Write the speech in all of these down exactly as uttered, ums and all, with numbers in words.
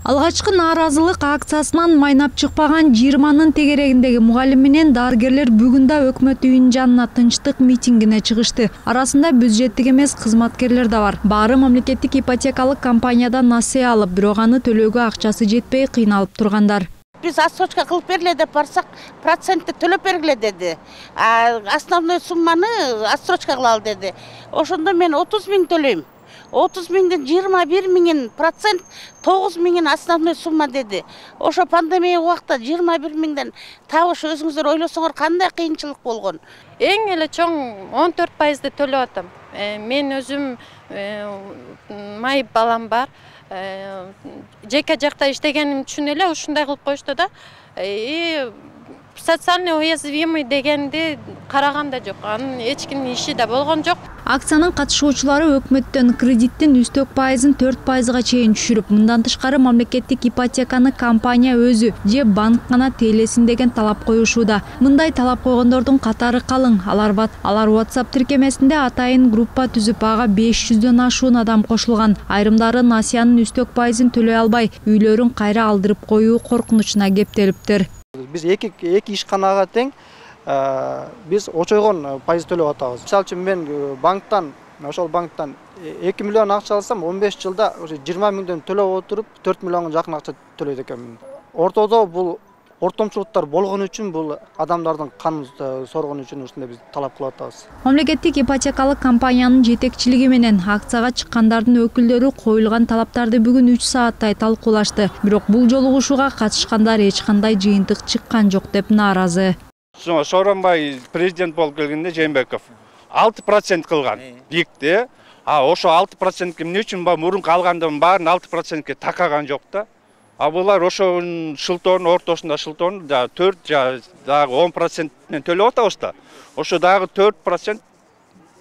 Алгачкы нааразылык акциясынан майнап чыкпаган жыйырманын тегерегиндеги мугалим менен дарыгерлер бүгүн да өкмөт үйүнүн жанына тынчтык митингине чыгышты. Арасында бюджеттик эмес кызматкерлер да бар. Баары мамлекеттик ипотекалык компаниядан насыя алып, бирок аны төлөөгө акчасы жетпей кыйналып тургандар. Биз отсрочка кылып бергиле деп барсак, процентти төлөп бергиле деди. А основной сумманы отсрочка кылалы деди. Ошондо мен отуз миң төлөйм. отуз миңден жыйырма бир миңин процент тогуз миңин основной сумма деди. Ошо пандемия убакта жыйырма бир миңден табыш өзүңүздөр ойлосоңор кандай кыйынчылык болгон. Эң эле чоң он төрт пайызды төлөп атам. Мен өзүм майып балам бар. Жеке жакта иштегеним үчүн эле ушундай кылып коюшту да. Социально уязвимый дегенди караган да жок. Анын эч кимдин иши да болгон жок. Акциянын катышуучулары өкмөттөн кредиттин үстөк пайызын төрт пайызга чейин түшүрүп, мындан тышкары мамлекеттик ипотеканы компания өзү же банк гана тейлесин деген талап коюшууда. Мындай талап койгондордун катары калың. Алар алар WhatsApp тиркемесинде атайын группа түзүп, ага беш жүздөн ашуун адам кошулган. Айрымдары насыянын үстөк пайызын төлөй албай, үйлөрүн кайра алдырып коюу коркунучуна кептелиптир. Биз эки эки ишканага тең биз очойгон пайыз төлөп атабыз. Мисалы үчүн мен банктан, ошол банктан эки миллион акча алсам, он беш жылда жыйырма миңден төлөп отуруп, төрт миллионго жакын акча төлөйт экенмин. Ортодо бул ортомчулуктар болгон үчүн, бул адамдардын канын соргон үчүн ушундай биз талап кылып атабыз. Мамлекеттик ипотекалык компаниянын жетекчилиги менен акцияга чыккандардын өкүлдөрү коюлган талаптарды бүгүн үч сааттай талкуулашты. Бирок бул жолугушууга катышкандар эч кандай жыйынтык чыккан жок деп нааразы. Сооронбай президент болуп келгенде Жээнбеков алты процент кылган бийикти. А ошо алты процентке эмне үчүн мурунку алгандын баарын алты процентке такаган жок да. А булар ошонун шылтоонун ортосунда шылтоон да төрт же дагы он процент менен төлөп атабыз да. Ошо дагы төрт процент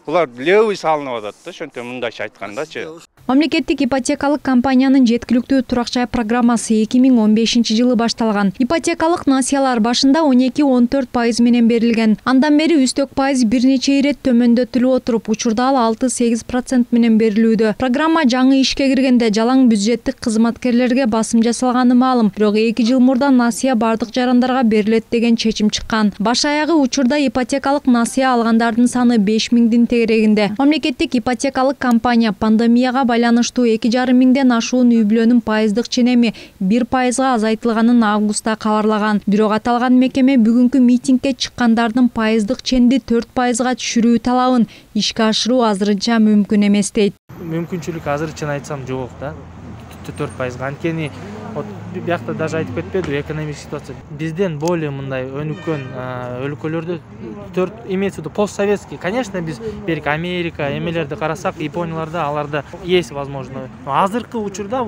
булар левый салынып атат да, ошентип мындайча айткандачы. Мамлекеттик ипотекалык компаниянын жеткиликтүү турак жай программасы эки миң он бешинчи жылы башталган. Ипотекалык насыялар башында он эки он төрт пайыз менен берилген. Андан бери үстөк пайыз бир нече ирет төмөндөтүлүп отуруп, учурда ал алты сегиз процент менен берилүүдө. Программа жаңы ишке киргенде жалаң бюджеттик кызматкерлерге басым жасалганы маалым. Бирок эки жыл мурда насыя бардык жарандарга берилет деген чечим чыккан. Баш аягы учурда ипотекалык насыя алгандардын саны беш миңдин тегерегинде. Мамлекеттик ипотекалык компания пандемияга байланыштуу эки жарым миңден ашуун үй бүлөнүн пайыздык ченеми бир пайызга азайтылганын августта кабарлаган. Бирок аталган мекеме бүгүнкү митингге чыккандардын пайыздык ченди төрт пайызга түшүрүү талабын ишке ашыруу азырынча мүмкүн эмес дейт. Мүмкүнчүлүк азырынча айтсам жок да. төрт пайызга. Анткени биякта даже айтып кетпеди, экономик ситуация бизден более мындай өнүккөн өлкөлөрдө төрт имеется в виду постсоветский. Конечно, биз берки Америка, эмелерди карасак, Японияларда аларда есть возможно. Но азыркы учурда,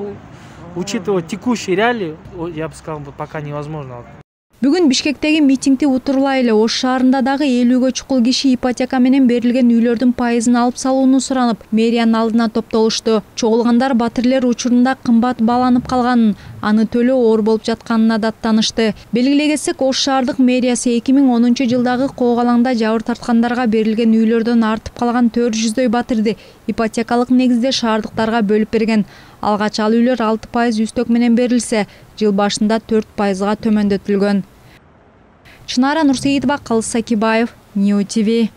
учитывая текущие реалии, я бы сказал, пока невозможно. Бүгүн Бишкектеги митингди утурлай эле Ош шаарында дагы элүүгө чукул киши ипотека менен берилген үйлөрдүн пайызын алып салууну суранып, мэриянын алдына топтолушту. Чогулгандар батирлер учурунда кымбат бааланып калганын, аны төлөө оор болуп жатканына даттанышты. Белгилегесек, Ош шаардык мэриясы эки миң онунчу жылдагы коогалаңда жабыр тарткандарга берилген үйлөрдөн артып калган төрт жүздөй батирди ипотекалык негизде шаардыктарга бөлүп берген. Алгач ал үйлөр алты пайыз үстөк менен берилсе, жыл башында төрт пайызга төмөндөтүлгөн. Чынара Нурсейитова, Калыс Сакибаев, Нью ТВ.